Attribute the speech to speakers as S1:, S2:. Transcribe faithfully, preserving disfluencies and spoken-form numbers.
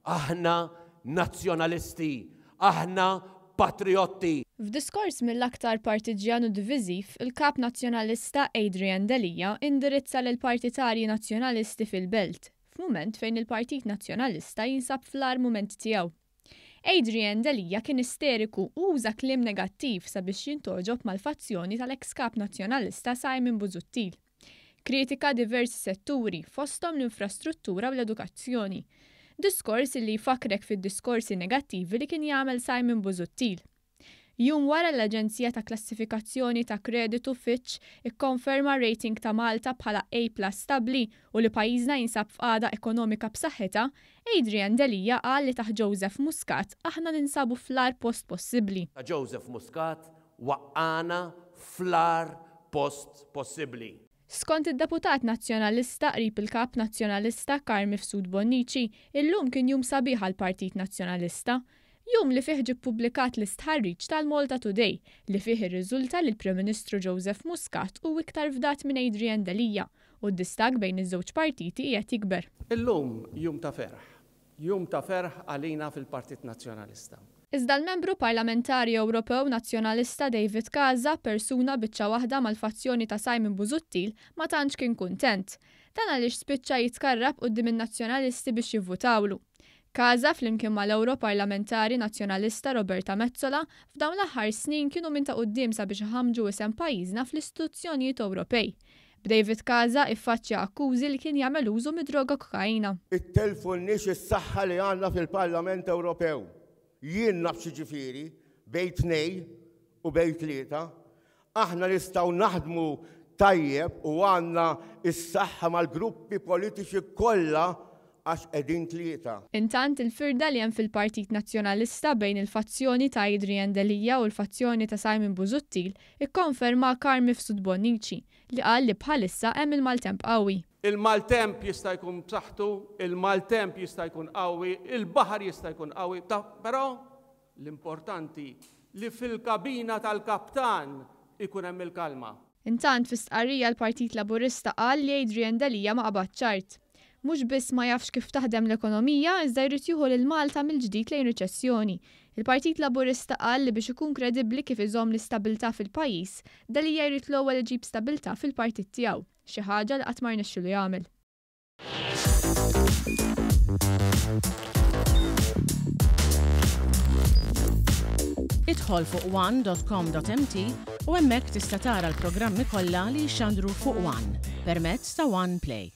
S1: Aħna nazzjonalisti, aħna patriotti.
S2: F'diskors mill-aktar partiġjan u diviżiv, il-kap nazzjonalista Adrian Delia indirizza lil partitarji nazzjonalisti fil-Belt, f'mument fejn il-Partit Nazzjonalista jinsab fl-agħar mument tiegħu. Adrian Delia kien isteriku u uża kliem negattiv sabiex jintgħoġob mal-fazzjoni tal-ex kap nazzjonalista Simon Busuttil. Kritika diversi setturi, fosthom l-infrastruttura u l-edukazzjoni. Diskors li jfakrek fid-diskorsi negattivi li kien jagħmel Simon Busuttil. Jum wara l-Aġenzija ta' Klassifikazzjoni ta' Kreditu Fitch ikkonferma rating ta' Malta bħala A plus stabli u li pajjiżna jinsab f'qagħda ekonomika b'saħħitha, Adrian Delia qal li taħt Joseph Muscat aħna ninsabu fl-agħar post possibbli.
S1: Joseph Muscat waqqagħna fl-agħar post possibbli.
S2: Skont id-deputat nazzjonalista qrib il-kap nazzjonalista Carm Mifsud Bonnici, illum kien jum sabiħ għall-Partit Nazzjonalista. Jum li fih ġie ppubblikat l-istħarriġ tal-Malta Today li fih irriżulta li l-Prim Ministru Joseph Muscat hu iktar fdat minn Adrian Delia u d-distakk bejn iż-żewġ partiti qiegħed jikber.
S3: Illum jum ta' ferħ. Jum ta' ferħ għalina fil-Partit Nazzjonalista.
S2: Iżda l-membru parlamentari Ewropew Nazzjonalista David Casa, persuna biċċa waħda mal-fazzjoni ta' Simon Busuttil, ma tantx kien kuntent. Dan għaliex spiċċa jitkarrab quddiem in-Nazzjonalisti biex jivvutawlu. Casa flimkien mal-Ewroparlamentari Nazzjonalista Roberta Metsola f'dawn l-aħħar snin kienu minn ta' quddiem sabiex iħammġu isem pajjiżna fl-istituzzjonijiet Ewropej. B'David Casa iffaċċja akkużi li kien jagħmel użu mid-droga kokaina.
S4: Ittellfunniex is-saħħa li għandna fil-Parlament Ewropew. Jien naf x'jiġifieri bejn tnejn u bejn tlieta. Aħna nistgħu naħdmu tajjeb u għandna is-saħħa mal-gruppi politiċi kollha għax qegħdin tlieta.
S2: Intant il-firda li hemm fil-Partit Nazzjonalista bejn il-fazzjoni ta' Adrian Delia u l-fazzjoni ta' Simon Busuttil ikkonferma Carm Mifsud Bonnici li qal li bħalissa hemm il-maltemp qawwi.
S3: Il-maltemp jista' jkun b'saħħtu, il-maltemp jista' jkun qawwi, il-baħar jista' jkun qawwi, però l-importanti li fil-kabina tal-kaptan ikun hemm il-kalma.
S2: Intant fi stqarrija l-Partit Laburista qal li Adrian Delia ma qabad ċart. Mhux biss ma jafx kif taħdem l-ekonomija, iżda jrid jieħu lil Malta mill-ġdid lejn riċessjoni. Il-Partit Laburista qal li biex ikun kredibbli kif iżomm l-istabilità fil-pajjiż, Delia jrid l-ewwel iġib stabilità fil-partit tiegħu, xi ħaġa li qatt ma rnexxielu jagħmel.
S5: Idħol fuq one dot com dot m t u hemmhekk tista' tara l-programmi kollha li jxandru fuq One permezz ta' One Play.